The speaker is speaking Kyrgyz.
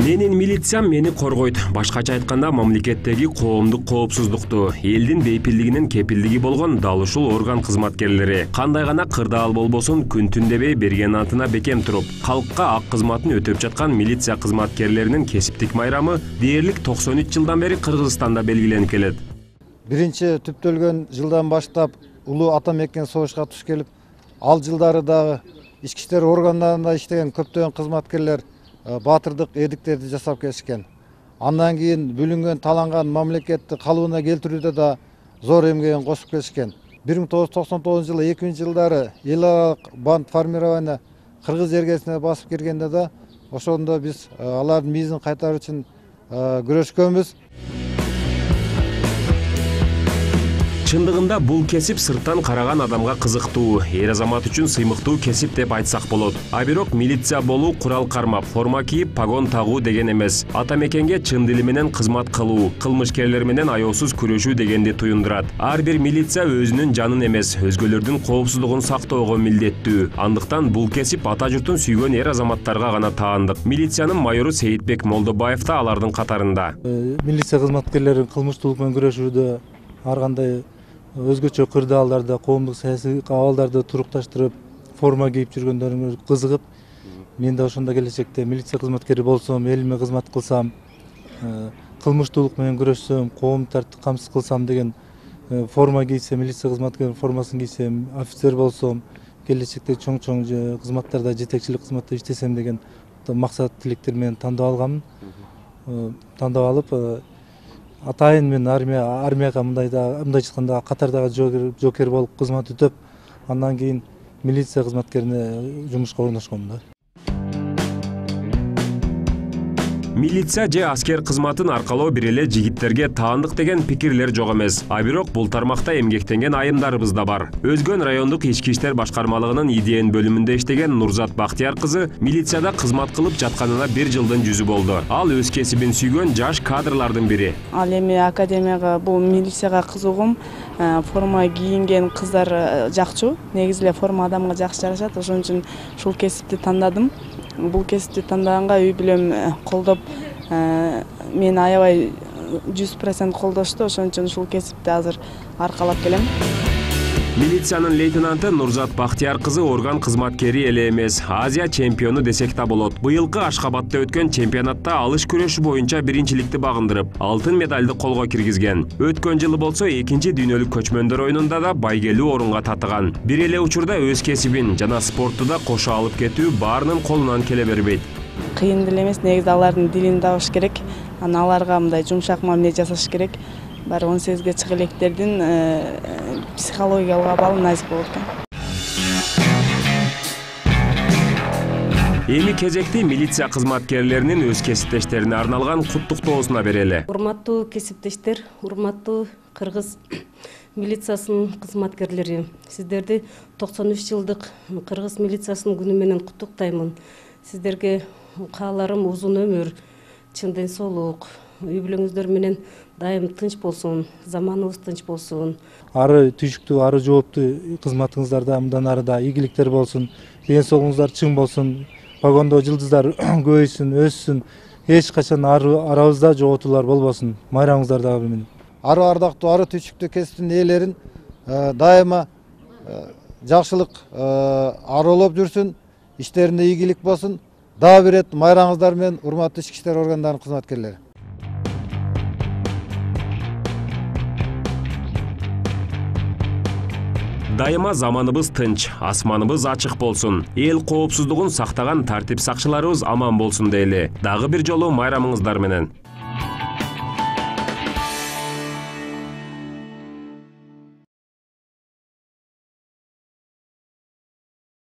Менин милициям мени коргойт. Башкача айтканда, мамлекеттеги коомдук коопсуздукту, элдин бейпилдигинин кепилдиги болгон дал ушул орган кызматкерлери кандай гана кырдаал болбосун күн түн дебей берген антына бекем туруп, калкка ак кызматын өтөп жаткан милиция кызматкерлеринин кесиптик майрамы дээрлик 93 жылдан бери Кыргызстанда белгиленип келет. Биринчи түптөлгөн жылдан баштап улуу ата мекен согушка туш келип, ал жылдары дагы ички иштер органдарында иштеген көптөгөн кызматкерлер баатырдык эдиктерди жасап келишкен. Андан кийин бүлүнгөн, таланган мамлекетти калыбына келтирүүдө да зор эмгегин кошуп келишкен. 1999 жылы 2000-жылдары эл аралык банд формирование кыргыз жергесине басып киргенде да ошондо биз алардын миизин кайтаруу үчүн күрөшкөнбүз. Чындыгында бул кесип сырттан караган адамга кызыктуу, эр азамат үчүн сыймыктуу кесип деп айтсак болот. А бирок милиция болуу курал кармап, форма кийип, погон тагуу деген эмес. Ата мекенге чын дили менен кызмат кылуу, кылмышкерлер менен аяосуз күрөшүү дегенди туюндурат. Ар бир милиция өзүнүн жанын эмес, өзгөлөрдүн коопсуздугун сактоого милдеттүү. Андыктан бул кесип ата журтун сүйгөн эр азаматтарга гана таандык. Милициянын майору Сейитбек Молдобаев да алардын катарында. Милиция кызматкерлери кылмыштуулук менен күрөшүүдө ар кандай өзгөчө кырдаалдарда, коомдук саясий абалдарды турукташтырып, форма кийип жүргөндөрүнгө кызыгып, мен да ошондо келечекте милиция кызматкери болсом, элиме кызмат кылсам, кылмыштуулук менен күрөшсөм, коом тартип камсыз кылсам деген форма кийсем, милиция кызматкеринин формасын кийсем, офицер болсом, келечекте чоң кызматтарда, жетекчилик кызматта иштесем деген максат тилектер менен тандап алганмын. Тандап алып, атайын мен армияга мындай айтканда катардагы жокер болуп кызмат өтөп, андан кийин милиция кызматкерине жумушка орношком да. Милиция же аскер кызматын аркалоо бир эле жигиттерге таандык деген пикирлер жок эмес. А бирок бул тармакта эмгектенген айымдарыбыз да бар. Өзгөн райондук ички иштер башкармалыгынын идеен бөлүмүндө иштеген Нурзат Бактияр кызы милицияда кызмат кылып жатканына 1 жылдын жүзү болду. Ал өз кесибин сүйгөн жаш кадрлардын бири. Ал эми академияга, бул милицияга кызыгым, форма кийинген кыздар жакчу. Негизи эле форма адамга жакшы жарашат. Ошон үчүн ушул кесипти тандадым. Бул кесипти тандаганга үй бүлөм колдоп, мен аябай 100% колдошту. Ошон үчүн ушул кесипти азыр аркалап келем. Милициянын лейтенанты Нурзат Бактияр кызы орган кызматкери эле эмес, Азия чемпиону десек да болот. Быйылкы Ашхабадта өткөн чемпионатта алыш күрөшү боюнча биринчиликти багындырып, алтын медалды колго киргизген. Өткөн жылы болсо 2-чи дүйнөлүк көчмөндөр оюнунда да байгелүү орунга татыган. Бир эле учурда өз кесибин жана спортту да кошо алып кетүү баарынын колунан келе бербейт. Кыйын деле эмес, негизи алардын дилин табыш керек. Аларга мындай жумшак мамиле жасаш керек. Баары 18-ге чыга электердин психологиялык абалы найзык болот экен. Эми кезекти милиция кызматкерлеринин өз кесиптештерине арналган куттуктоосуна берели. Урматтуу кесиптештер, урматтуу Кыргыз милициясынын кызматкерлери, сиздерди 93 жылдык Кыргыз милициясынын күнү менен куттуктаймын. Сиздерге кааларым узун өмүр, чын ден соолук, үй бүлөңүздөр менен дайым тынч болсун, заманыбыз тынч болсун. Ары түйшүктүү, ары жооптуу кызматыңыздарда мындан ары да ийгиликтер болсун, ден соолугуңуздар чың болсун, погондо жылдыздар көбөйсүн, өссүн, эч качан арабызда жоготуулар болбосун. Майрамыңыздар дагы менен. Ары ардактуу, ары түйшүктүү кесиптин ээлерин дайыма жакшылык аралап жүрсүн, иштеринде ийгилик болсун. Дагы бир рет майрамыңыздар менен, урматтуу ички иштер органдарынын кызматкерлери. Дайыма заманыбыз тынч, асманыбыз ачык болсун. Эл коопсуздугун сактаган тартип сакчыларыбыз аман болсун дейли. Дагы бир жолу майрамыңыздар менен.